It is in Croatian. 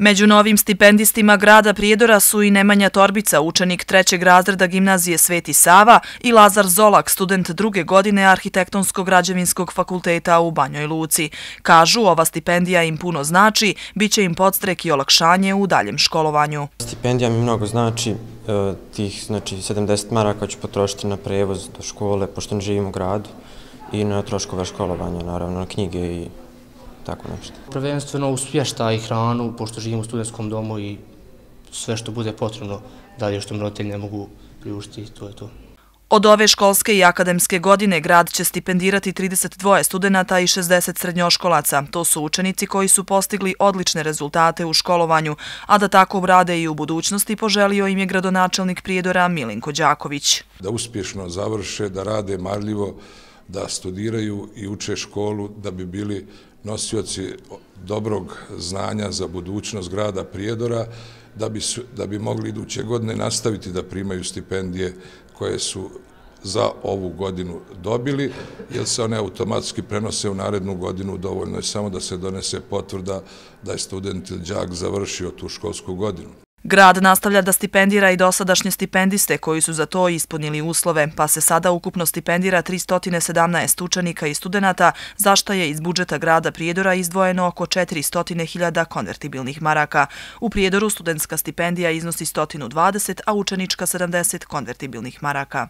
Među novim stipendistima grada Prijedora su i Nemanja Torbica, učenik 3. razreda gimnazije Sveti Sava, i Lazar Zolak, student 2. godine Arhitektonsko-građevinskog fakulteta u Banjoj Luci. Kažu, ova stipendija im puno znači, bit će im podstrek i olakšanje u daljem školovanju. Stipendija mi mnogo znači, tih 70 maraka ću potrošiti na prevoz do škole, pošto ne živim u gradu, i na troškove školovanja, naravno, na knjige i tako nešto. Prvenstveno u smještaj i hranu, pošto živim u studentskom domu i sve što bude potrebno dalje što mi roditelji ne mogu priuštiti, to je to. Od ove školske i akademske godine grad će stipendirati 32 studenta i 60 srednjoškolaca. To su učenici koji su postigli odlične rezultate u školovanju, a da tako rade i u budućnosti poželio im je gradonačelnik Prijedora Milinko Đaković. Da uspješno završe, da rade marljivo, da studiraju i uče školu, da bi bili nosioci dobrog znanja za budućnost grada Prijedora, da bi mogli iduće godine nastaviti da primaju stipendije koje su za ovu godinu dobili, jer se one automatski prenose u narednu godinu. Dovoljno je samo da se donese potvrda da je student ili đak završio tu školsku godinu. Grad nastavlja da stipendira i dosadašnje stipendiste koji su za to ispunili uslove, pa se sada ukupno stipendira 317 učenika i studenata, za što je iz budžeta grada Prijedora izdvojeno oko 400.000 konvertibilnih maraka. U Prijedoru studentska stipendija iznosi 120, a učenička 70 konvertibilnih maraka.